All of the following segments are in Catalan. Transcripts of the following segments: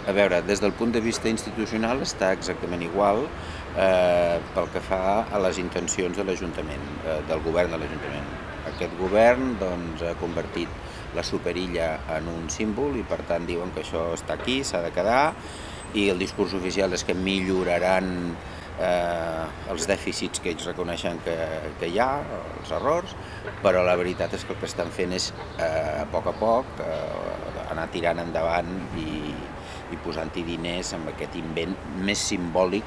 A veure, des del punt de vista institucional està exactament igual pel que fa a les intencions de l'Ajuntament, del govern de l'Ajuntament. Aquest govern ha convertit la superilla en un símbol i per tant diuen que això està aquí, s'ha de quedar, i el discurs oficial és que milloraran els dèficits que ells reconeixen que hi ha, els errors, però la veritat és que el que estan fent és a poc anar tirant endavant i posant-hi diners amb aquest invent més simbòlic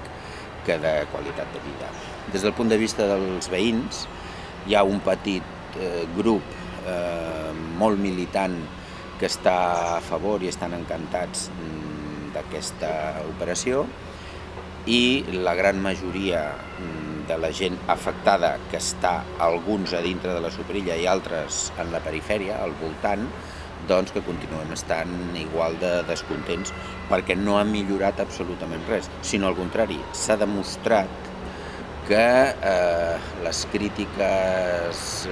que de qualitat de vida. Des del punt de vista dels veïns, hi ha un petit grup molt militant que està a favor i estan encantats d'aquesta operació, i la gran majoria de la gent afectada, que està alguns a dintre de la superilla i altres en la perifèria, al voltant, doncs que continuem estant igual de descontents perquè no ha millorat absolutament res, sinó al contrari, s'ha demostrat que les crítiques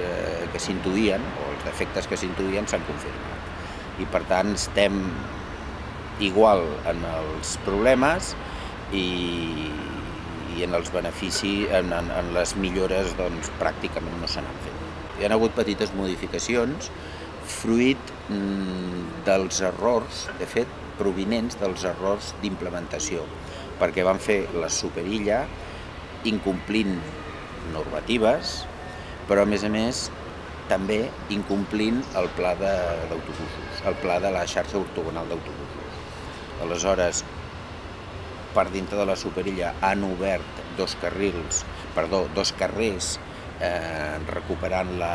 que s'intuïen, o els defectes que s'intuïen, s'han confirmat. I per tant estem igual en els problemes i en els beneficis, en les millores, doncs pràcticament no se n'han fet. Hi ha hagut petites modificacions fruit dels errors, de fet, provinents dels errors d'implementació, perquè van fer la superilla incomplint normatives, però a més també incomplint el pla d'autobusos, el pla de la xarxa ortogonal d'autobusos. Aleshores, per dintre de la superilla han obert dos carrers recuperant la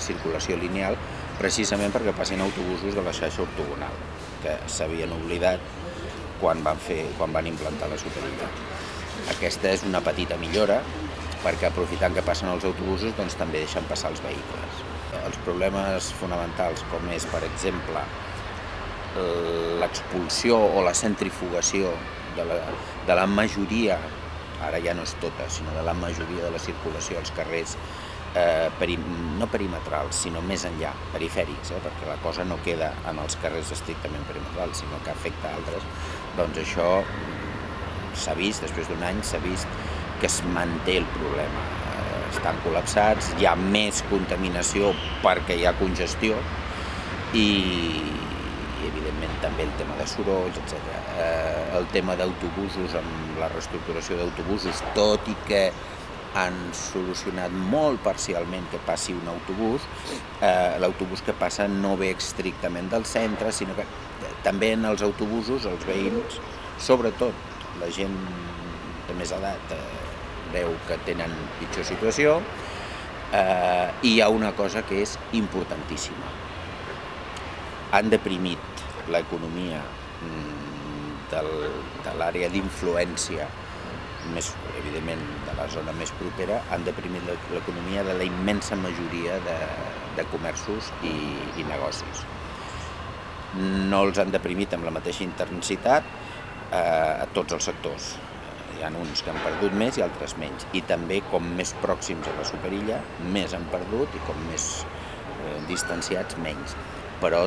circulació lineal, precisament perquè passin autobusos de la xarxa ortogonal, que s'havien oblidat quan van implantar la superilla. Aquesta és una petita millora, perquè aprofitant que passen els autobusos, doncs també deixen passar els vehicles. Els problemes fonamentals, com és, per exemple, l'expulsió o la centrifugació de la majoria, ara ja no és tota, sinó de la majoria de la circulació als carrers, no perimetrals, sinó més enllà, perifèrics, perquè la cosa no queda en els carrers estrictament perimetrals, sinó que afecta altres, doncs això s'ha vist, després d'un any s'ha vist que es manté el problema. Estan col·lapsats, hi ha més contaminació perquè hi ha congestió i evidentment també el tema de sorolls, etc. El tema d'autobusos, amb la reestructuració d'autobusos, tot i que han solucionat molt parcialment que passi un autobús, l'autobús que passa no ve estrictament del centre, sinó que també en els autobusos els veïns, sobretot la gent de més edat, veu que tenen pitjor situació, i hi ha una cosa que és importantíssima. Han deprimit l'economia de l'àrea d'influència, evidentment de la zona més propera, han deprimit l'economia de la immensa majoria de comerços i negocis. No els han deprimit amb la mateixa intensitat a tots els sectors. Hi ha uns que han perdut més i altres menys. I també, com més pròxims a la superilla, més han perdut, i com més distanciats, menys. Però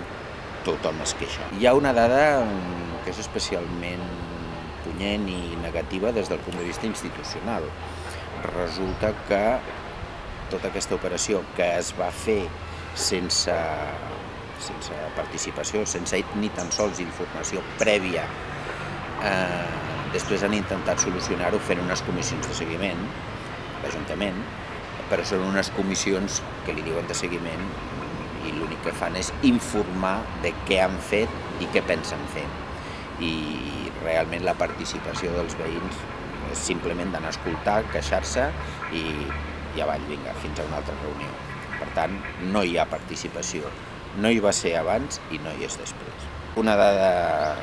tothom es queixa. Hi ha una dada que és especialment punyent i negativa des del punt de vista institucional. Resulta que tota aquesta operació que es va fer sense participació, sense ni tan sols informació prèvia, després han intentat solucionar-ho fent unes comissions de seguiment, l'Ajuntament, però són unes comissions que li diuen de seguiment i l'únic que fan és informar de què han fet i què pensen fer. I realment la participació dels veïns és simplement d'anar a escoltar, queixar-se i avall, vinga, fins a una altra reunió. Per tant, no hi ha participació. No hi va ser abans i no hi és després. Una dada,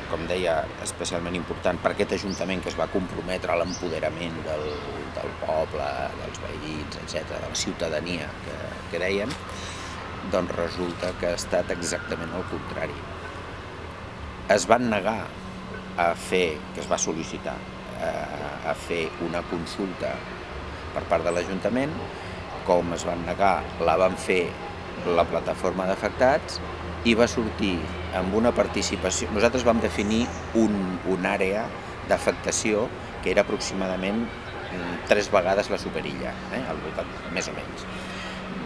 com deia, especialment important per aquest Ajuntament que es va comprometre a l'empoderament del poble, dels veïns, etc., de la ciutadania que dèiem, doncs resulta que ha estat exactament el contrari. Es van negar a fer, que es va sol·licitar, a fer una consulta per part de l'Ajuntament. Com es van negar, la van fer la plataforma d'afectats i va sortir amb una participació. Nosaltres vam definir una àrea d'afectació que era aproximadament 3 vegades la Superilla, al voltant, més o menys.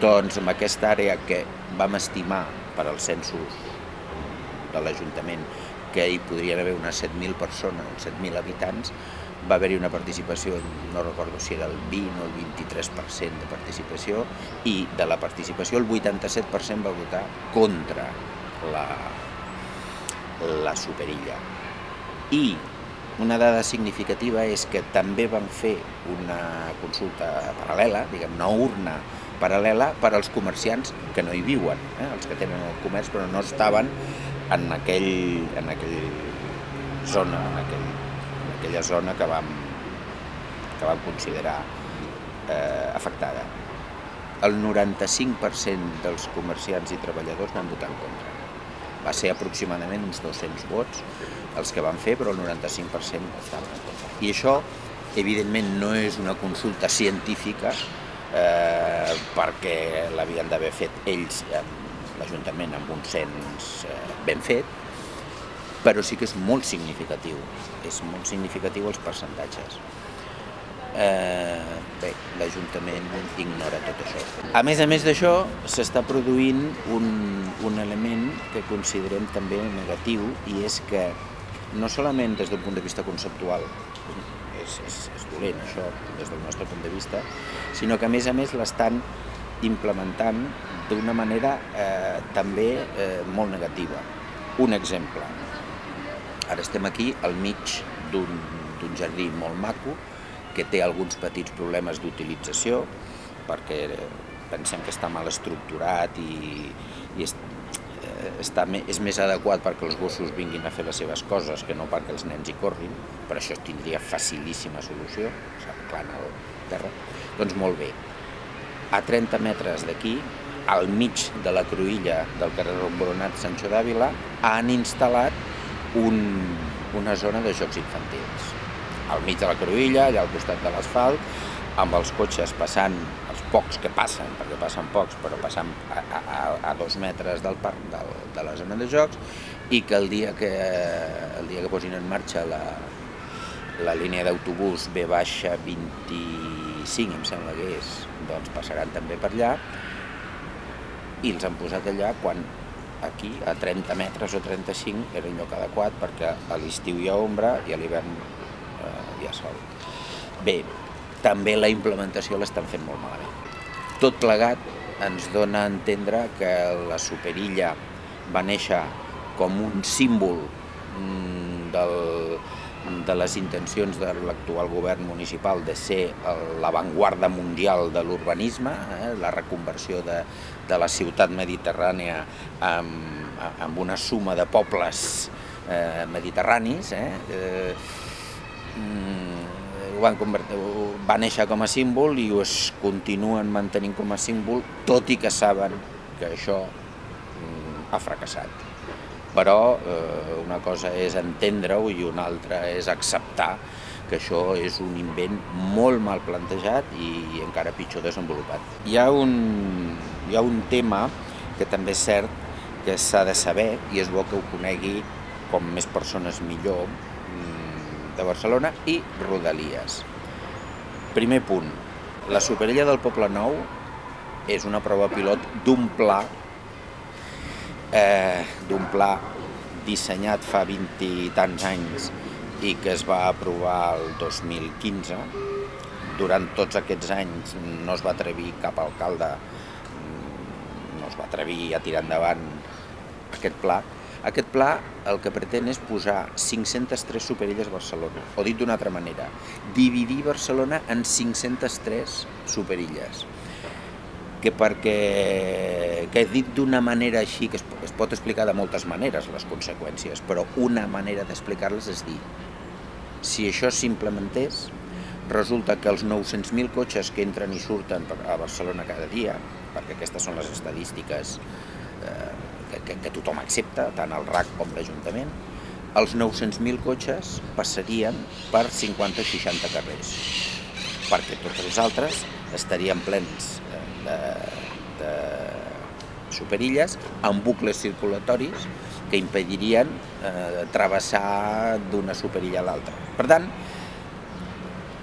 Doncs amb aquesta àrea que vam estimar per als censos de l'Ajuntament que hi podrien haver unes 7.000 persones, 7.000 habitants, va haver-hi una participació, no recordo si era el 20 o el 23% de participació, i de la participació el 87% va votar contra la Superilla. I una dada significativa és que també van fer una consulta paral·lela, diguem, una urna paral·lela per als comerciants que no hi viuen, els que tenen el comerç però no estaven en aquella zona que vam considerar afectada. El 95% dels comerciants i treballadors van votar en contra. Va ser aproximadament uns 200 vots els que van fer, però el 95% estaven en contra. I això, evidentment, no és una consulta científica, perquè l'havien d'haver fet ells, l'Ajuntament, amb un cens ben fet, però sí que és molt significatiu els percentatges. Bé, l'Ajuntament ignora tot això. A més d'això, s'està produint un element que considerem també negatiu, i és que no solament des d'un punt de vista conceptual és dolent això des del nostre punt de vista, sinó que a més l'estan implementant d'una manera també molt negativa. Un exemple. Ara estem aquí al mig d'un jardí molt maco que té alguns petits problemes d'utilització perquè pensem que està mal estructurat i és més adequat perquè els gossos vinguin a fer les seves coses que no perquè els nens hi corrin, per això tindria facilíssima solució, s'arreglant al terra. Doncs molt bé, a 30 metres d'aquí, al mig de la cruïlla del carrer Boronat Sancho d'Àvila, han instal·lat una zona de jocs infantils. Al mig de la cruïlla, allà al costat de l'asfalt, amb els cotxes passant, els pocs que passen, perquè passen pocs, però passen a 2 metres del parc, de la zona de jocs, i que el dia que posin en marxa la línia d'autobús V-25, em sembla que és, doncs passaran també per allà, i els han posat allà quan aquí, a 30 metres o 35, era el lloc adequat, perquè a l'estiu hi ha ombra i a l'hivern hi ha sol. Bé, també la implementació l'estan fent molt malament. Tot plegat ens dona a entendre que la Superilla va néixer com un símbol de les intencions de l'actual govern municipal de ser l'avantguarda mundial de l'urbanisme, la reconversió de la ciutat mediterrània amb una suma de pobles mediterranis. Va néixer com a símbol i es continuen mantenint com a símbol, tot i que saben que això ha fracassat. Però una cosa és entendre-ho i una altra és acceptar que això és un invent molt mal plantejat i encara pitjor desenvolupat. Hi ha un tema que també és cert que s'ha de saber, i és bo que ho conegui com més persones millor, de Barcelona i Rodalies. Primer punt, la Superilla del Poblenou és una prova pilot d'un pla dissenyat fa 20 i tants anys i que es va aprovar el 2015. Durant tots aquests anys no es va atrevir cap alcalde, no es va atrevir a tirar endavant aquest pla. Aquest pla el que pretén és posar 503 Superilles a Barcelona, o dit d'una altra manera, dividir Barcelona en 503 Superilles. Que dit d'una manera així, que es pot explicar de moltes maneres les conseqüències, però una manera d'explicar-les és dir, si això s'implementés, resulta que els 900.000 cotxes que entren i surten a Barcelona cada dia, perquè aquestes són les estadístiques que tothom accepta, tant el RAC com l'Ajuntament, els 900.000 cotxes passarien per 50 o 60 carrers, perquè tots els altres estarien plens superilles amb bucles circulatoris que impedirien travessar d'una superilla a l'altra. Per tant,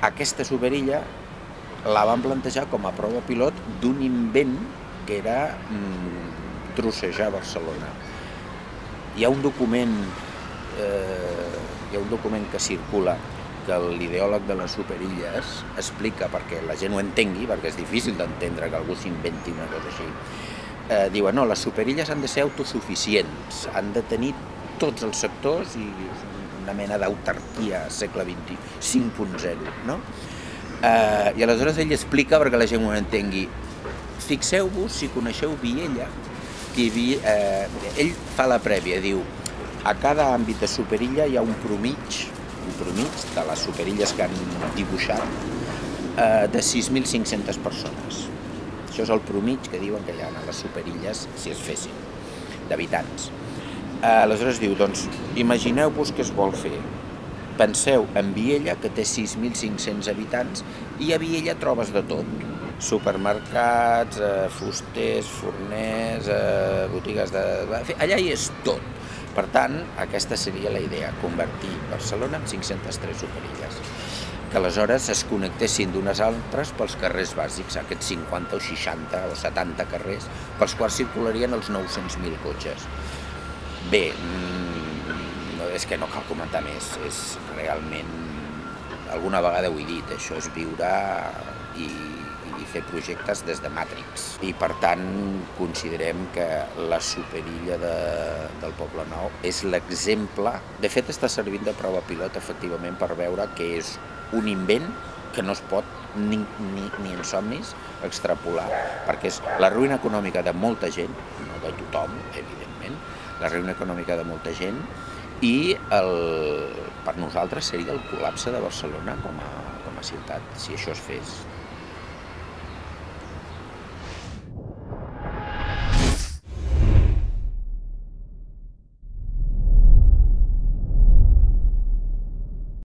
aquesta superilla la van plantejar com a prova pilot d'un invent que era trossejar Barcelona. Hi ha un document que circula que l'ideòleg de les superilles explica, perquè la gent ho entengui, perquè és difícil d'entendre que algú s'inventi una cosa així. Diuen, no, les superilles han de ser autosuficients, han de tenir tots els sectors i una mena d'autarquia segle XX, 5.0, no? I aleshores ell explica, perquè la gent ho entengui, fixeu-vos, si coneixeu Viella, ell fa la prèvia, diu, a cada àmbit de superilla hi ha un promig de les superilles que han dibuixat de 6.500 persones. Això és el promig que diuen que hi ha a les superilles si es fessin, d'habitants. Aleshores diu, doncs, imagineu-vos què es vol fer. Penseu en Viella, que té 6.500 habitants, i a Viella trobes de tot. Supermercats, fusters, forners, botigues de... Allà hi és tot. Per tant, aquesta seria la idea, convertir Barcelona en 503 superilles, que aleshores es connectessin d'unes altres pels carrers bàsics, aquests 50 o 60 o 70 carrers, pels quals circularien els 900.000 cotxes. Bé, és que no cal comentar més, és realment, alguna vegada ho he dit, això és viure i fer projectes des de Matrix. I per tant considerem que la superilla del Poblenou és l'exemple, de fet està servint de prova pilot efectivament per veure que és un invent que no es pot ni en somnis extrapolar, perquè és la ruïna econòmica de molta gent, no de tothom, evidentment, la ruïna econòmica de molta gent i per nosaltres seria el col·lapse de Barcelona com a ciutat, si això es fes.